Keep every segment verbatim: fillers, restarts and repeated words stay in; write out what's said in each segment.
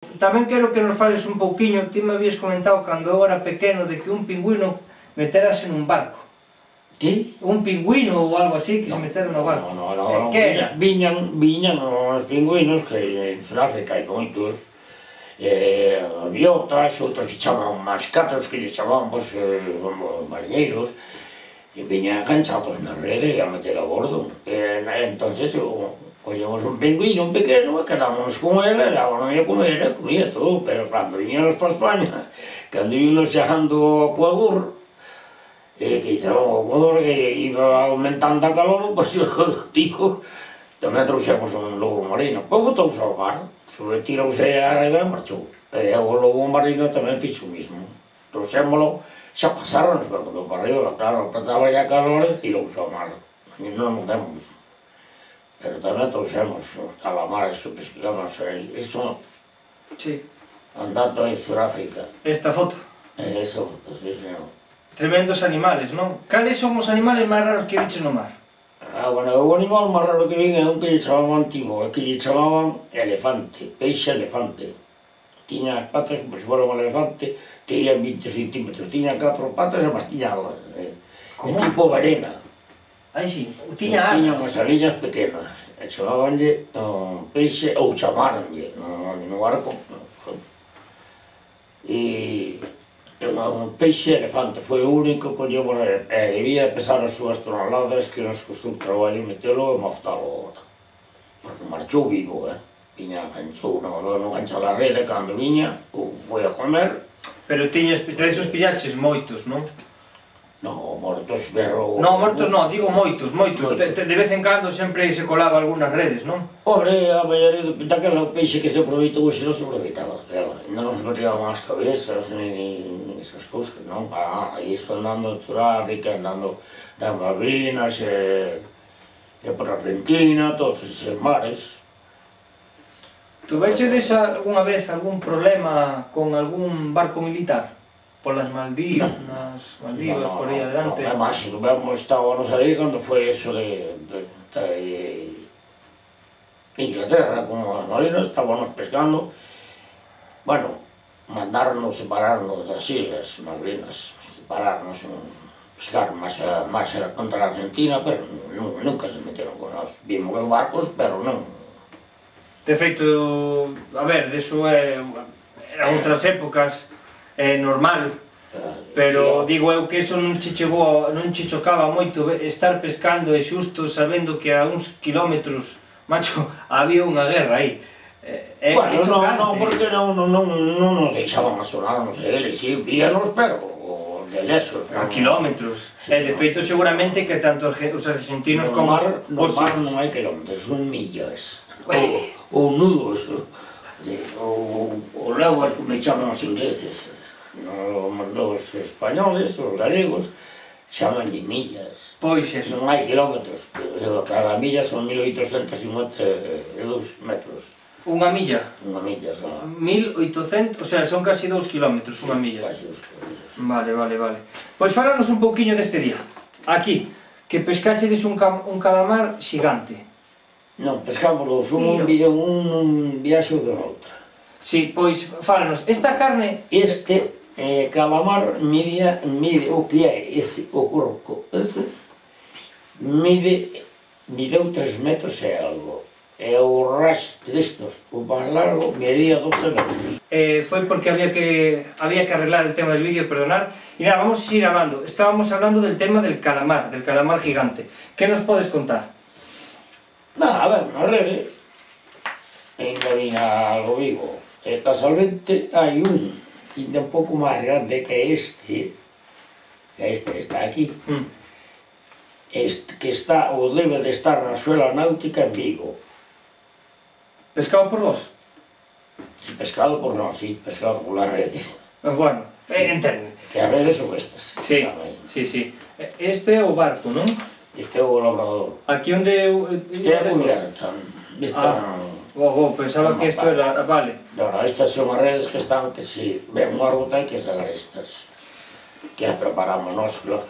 Tamén quero que nos fales un pouquiño, ti me habías comentado cando eu era pequeno de que un pingüino meterase nun barco. Que? Un pingüino ou algo así que se metera no barco. Non, non, non, que era? viñan, viñan os pingüinos que en Sudáfrica hai moitos, eh, aviotas, outros que chaman mascatas, que lles chaman, pois, como mariñeiros, e viñan enganchados na rede e a meter a bordo. E, entonces, collemos un pingüino, un pequeno, e quedámonos con ele, e dábamos a comer, e comía todo, pero cando viñamos para España, cando íbamos chegando ao Ecuador, e que chegamos ao Ecuador, que iba aumentando a calor, pois o tipo, tamén trouxemos un lobo marino, pois botouse ao mar, tirouse a rede e marchou. E o lobo marino tamén fixo o mismo, trouxémolo, xa pasaron, pero cando para arriba, claro, estaba ya calor e tirouse ao mar, e non nos demos. Pero tamén trouxemos os calamares que pescamos aí, iso Sí. andando en Sudáfrica. Esta foto. E esa foto, sí, señor. Tremendos animales, non? Cales son os animales máis raros que viches no mar? Ah, bueno, o animal máis raro que vin é un que lle chamaban antigo, é que lle chamaban elefante, peixe elefante. Tiña as patas como se fora un elefante, tiña vinte centímetros, tiña catro patas e bastiñadas, é tipo ballena. Ai, si, tiña Tiña alas. unhas aliñas pequenas, e chamabanlle um, peixe, ou chamaranlle no, no barco. E un peixe elefante, foi o único que collemos, e debía pesar as súas toneladas que nos costou traballo metelo e moftalo. Porque marchou vivo, eh? Viña, enganchou, non, non enganchou a rede, cando viña, foi a comer. Pero tiñes, esos pillaches moitos, non? Non, mortos, pero... Non, mortos non, digo moitos, moitos. De vez en cando sempre se colaba algunhas redes, non? Pobre, a maioría daquela peixe que se aproveitou, se non se aproveitaba daquela. Non nos metían as cabezas, ni esas cousas, non? Ah, iso andando en Sudáfrica, andando nas Malvinas, e por Argentina, todos esos mares. Tuvechedes algunha vez algún problema con algún barco militar? Polas Maldivas, nas Maldivas, por aí adelante? Non, además, estábamos aí cando foi eso de Inglaterra, como as marinas, estábamos pescando. Bueno, mandarnos separarnos das islas Malvinas, separarnos, pescar máis contra a Argentina, pero nunca se meteron con nós. Vimos os barcos, pero non. De feito, a ver, deso é... eran outras épocas, é normal, pero digo eu que eso non che chegou, non che chocaba moito estar pescando e xusto sabendo que a uns kilómetros, macho, había unha guerra aí. É chocante. Non, porque non nos deixaban asonarnos eles, si, víanos, pero de lesos. A kilómetros. E de feito seguramente que tanto os argentinos como os... No mar non hai kilómetros, son millas, ou nudos, ou leguas, como chaman os ingleses. Os españoles, os galegos, chamanlle millas. Pois eso. Non hai kilómetros, cada milla son mil oitocentos cincuenta e dous metros. Unha milla? Unha milla son. mil oitocentos, o sea, son casi dous kilómetros unha milla. Casi dous kilómetros. Vale, vale, vale. Pois falanos un pouquiño deste día. Aquí, que pescachedes un calamar xigante. Non, pescámoslo, un viaxe ou de outra. Si, pois, fálanos, esta carne... Este calamar mide, o que é ese, o corpo, ese, mide, mideu tres metros e algo. E o resto destos, o máis largo, medía doce metros. Foi porque había que había que arreglar el tema del vídeo, perdonar. Y nada, vamos a seguir hablando. Estábamos hablando del tema del calamar, del calamar gigante. ¿Qué nos podes contar? Nada, a ver, na rede, ainda viña algo vivo. E casualmente hai un ainda un pouco máis grande que este, que este que está aquí, que está, ou debe de estar na Escola Náutica en Vigo. Pescado por vos? Pescado por nós, sí, pescado por las redes. Bueno, entende. Que as redes son estas. Sí, sí, sí. Este é o barco, non? Este é o labrador. Aquí onde... Este é a cubierta. Ah, oh, pensaba que isto era... Vale. Non, estas son as redes que están, que si ven unha ruta hai que sacar estas. Que as preparamos nós, claro.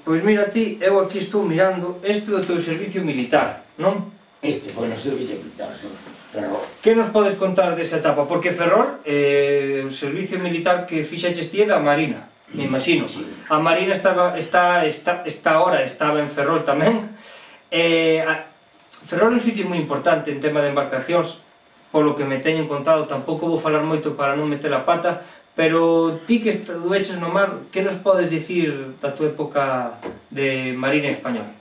Pois mira ti, eu aquí estou mirando isto do teu servicio militar, non? Este foi no servicio militar, sí. Ferrol. Que nos podes contar desa etapa? Porque Ferrol, eh, o servicio militar que fixaches ti é da Marina, me imagino. Sí. A Marina estaba, está, está, está ahora, estaba en Ferrol tamén. Eh, a, Ferrol é un sitio moi importante en tema de embarcacións, polo que me teñen contado, tampouco vou falar moito para non meter a pata, pero ti que estuveches no mar, que nos podes dicir da tua época de Marina española?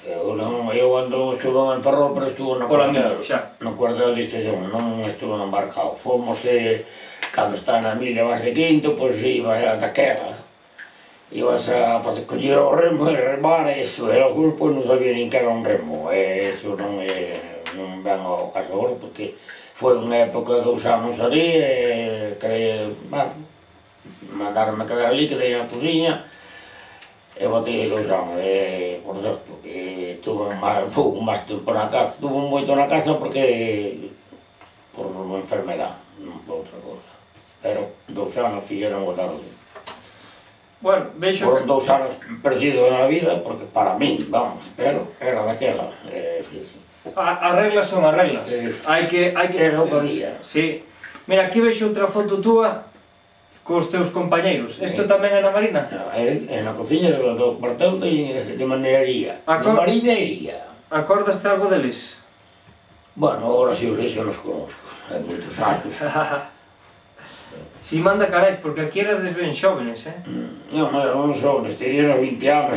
Eu, non, eu ando, estuve en Ferrol, pero estuve no cuartel, no cuartel de distribución, non estuve embarcado. Fomos, eh, cando está na milla vas de Quinto, pois iba a daquela. Ibas a facer coller o remo e remar, e iso, e algúns pois non sabía nin que era un remo, e iso non é, non ven ao caso agora, porque foi unha época de dous anos ali, e que, bueno, mandaronme quedar ali, quedei na cociña, e botei dous anos, e, por certo, que tuve máis, pouco máis tempo na casa, tuve moito na casa porque, por unha enfermedad, non por outra cousa. Pero dous anos fixeron o tarde. Bueno, vexo Foron que... dous anos perdidos na vida, porque para min, vamos, pero era daquela, e fíjese. As reglas son as reglas, hai que... hai que... Era o que había. Sí. Mira, aquí vexo outra foto túa cos teus compañeiros. Isto tamén é na Marina? É, é na cociña do cuartel de, de manería, de marinería. Acordaste algo deles? Bueno, agora si os vexo nos conozco, hai moitos anos. Si manda carais, porque aquí erades ben xóvenes, eh? Non, non son, estirían os vinte anos.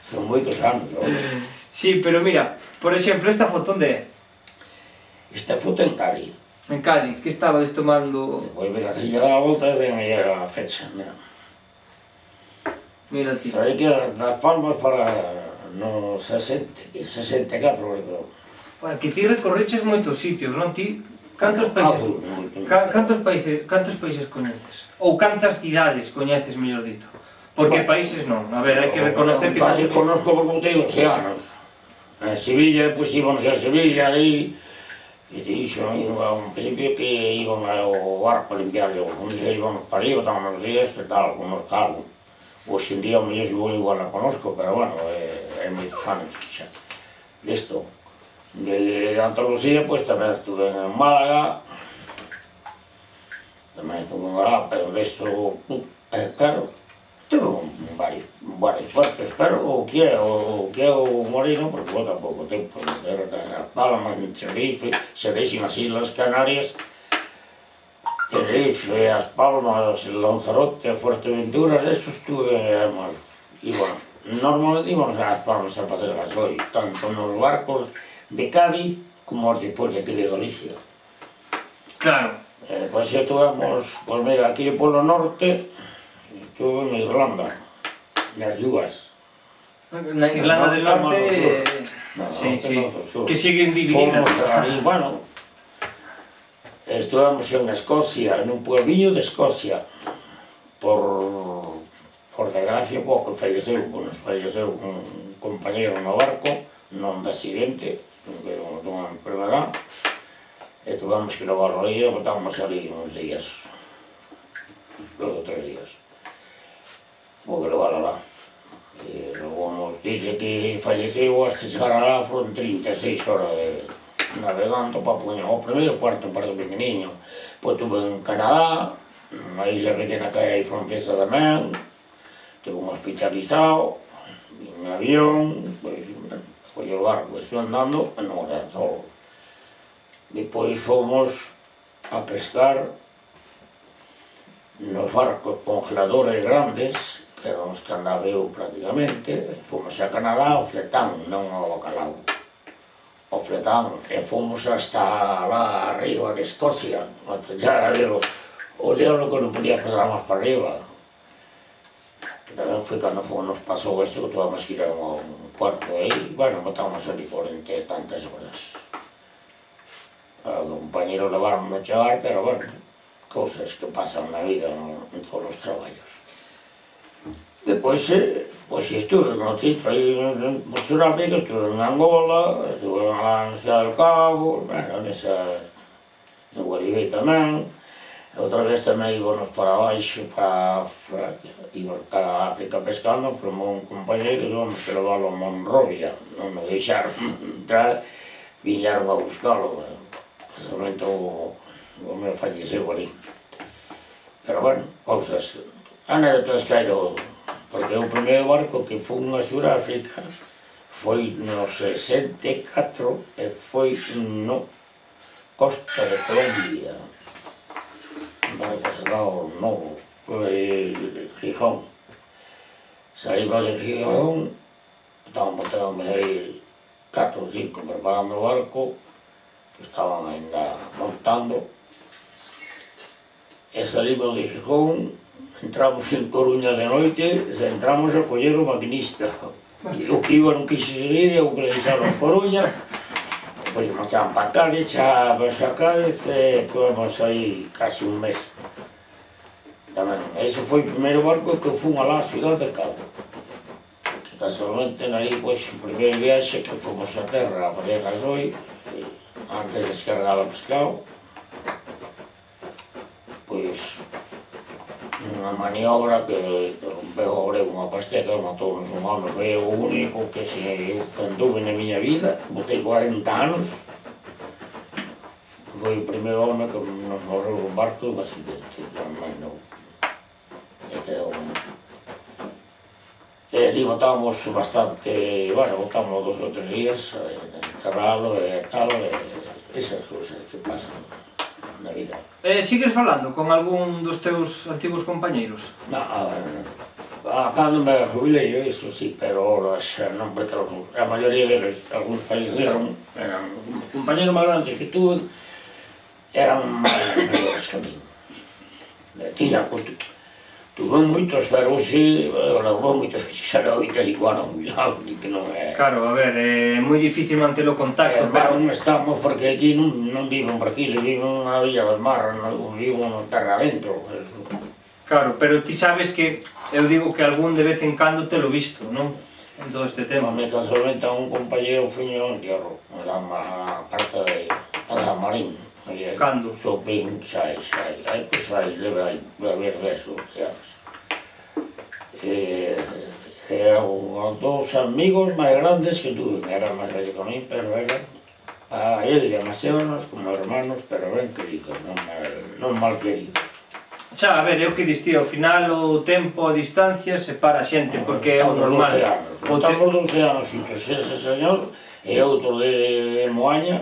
Son moitos anos, non? Sí, pero mira, por exemplo, esta foto onde é? Esta foto en Cádiz. En Cádiz, que estabades tomando... Voy ver a Cilla da Volta e ven aí a fecha, mira. Mira ti. Aí que das Palmas para no sesenta, sesenta e catro, creo. Bueno, que ti recorreches moitos sitios, non? Ti, cantos países... Ca, cantos países, cantos países coñeces? Ou cantas cidades coñeces, mellor dito? Porque países non, a ver, hai que reconocer que... Países conozco porque botei doce anos. En Sevilla, pois íbamos a Sevilla, ali... E dixo, a un principio que iban ao barco a limpiar, e un día íbamos para ali, botámonos días, e tal, conozco algo. Hoxe en día, o mellor igual igual a conozco, pero bueno, é moitos anos xa. Listo. De Andalucía, pois tamén estuve en Málaga, tamén estuve en Málaga, pero desto, claro, tuve varios, varios puertos, pero o que é o que é o Moreno, porque bota pouco tempo, era as Palmas, en Tenerife, se deixen as Islas Canarias, Tenerife, as Palmas, Lanzarote, Fuerteventura, deso estuve, e bueno, normalmente íbamos ás Palmas a facer gasoil, tanto nos barcos de Cádiz como os depois de aquí de Galicia. Claro. Eh, pois estuvemos, pois mira, aquí polo norte, estuve en Irlanda, nas dúas. Na Irlanda del Norte... Sí, sí, que siguen divididas. E, bueno, estuvemos en Escocia, en un puebliño de Escocia, por, por desgracia, pouco falleceu, bueno, falleceu un compañero no barco, non de accidente, que dunha enfermedad, e tuvemos que levarlo aí e botámos ali uns días, logo tres días. Vou que levar alá. E logo nos dice que falleceu hasta chegar alá foron trinta e seis horas de navegando para poñer o primeiro puerto, un puerto pequeniño. Pois estuve en Canadá, unha isla pequena que hai francesa tamén, estuve hospitalizado, en avión, pois, foi o barco, estuve andando, e non era solo. Depois fomos a pescar nos barcos congeladores grandes, que eran os que andaba eu prácticamente, fomos a Canadá ao Fletán, non ao Bacalao, ao Fletán, e fomos hasta lá arriba de Escocia, hasta chegar a ver o, o diablo que non podía pasar máis para arriba. Que tamén foi cando nos pasou isto que tuvamos que ir a un puerto aí, bueno, botamos ali corrente tantas horas. O compañero levaron a chegar, pero bueno, cousas que pasan na vida en todos os traballos. Depois, pois estuve no Tito, aí en Suráfrica, estuve en Angola, estuve lá en Ciudad del Cabo, bueno, nesas, en Guaribé tamén, outra vez tamén íbamos para baixo, para, íbamos para África pescando, formou un compañeiro, íbamos que leválo a Monrovia, non me deixaron entrar, viñeron a buscalo, casualmente o, o meu falleceu ali. Pero bueno, cousas, anécdotas que hai do... Porque o primeiro barco que fun a Suráfrica foi no sesenta e catro e foi no Costa de Colombia. Un barco serrado novo, foi Gijón. Saímos de Gijón, estábamos aí catro ou cinco preparando o barco, que estaban ainda montando, e salimos de Gijón, entramos en Coruña de noite, e entramos a coller o maquinista. O que iba non quixo seguir, e o que le deixaron a Coruña, depois marchaban para Cádiz, xa vas a Cádiz, e tivemos aí casi un mes. Tamén, ese foi o primeiro barco que fun alá a cidade de Cádiz. Que casualmente, ali, pois, o primeiro viaxe que fomos a terra a fazer gasoi, antes de descargar o pescado, pois, unha maniobra que rompeu o breu unha pasteca e matou-nos un home, foi o único que se anduve na miña vida, botei cuarenta anos, foi o primeiro home que nos morreu un barco de un accidente, tamén non, e quedou. E ali botábamos bastante, bueno, botámos dos ou tres días, enterrado e tal, e esas cousas que pasan na vida. Eh, sigues falando con algún dos teus antigos compañeiros? Non, a cando me jubilei, isto sí, pero ahora xa non, porque a maioría deles, algúns faleceron, eran compañeros máis grandes que tuve, eran mellores que a mí. Tiñan, tuve moitos, pero hoxe, houve moitos que xa non oitas igual non jubilados, que non é... Claro, a ver, é moi difícil manter o contacto, pero... pero... non estamos, porque aquí non, non viven por aquí, viven na Villa del Mar, non viven na terra adentro. Claro, pero ti sabes que, eu digo que algún de vez en cando te lo visto, non? En todo este tema. Me casualmente a un compañero fuño en entierro, era a parte de Marín. Cando? Sopín, xa, xa, aí, pois aí, leve aí, leve deso, xa. E eran dous amigos máis grandes que tuve, eran máis vellos que a mí, pero eran a él demasiados como hermanos, pero ben queridos, non mal, non mal queridos. Xa, a ver, é o que distí, ao final o tempo, a distancia, separa a xente, porque é o normal. Estamos doce anos xuntos, ese señor e outro de Moaña,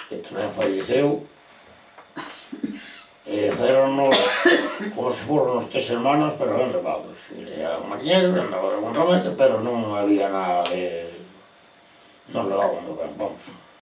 que tamén falleceu, e fueron como se foron os tres hermanos, pero ben levados. Eran mariñeros, andaban con ramete, pero non había nada de... non levaban ben, vamos.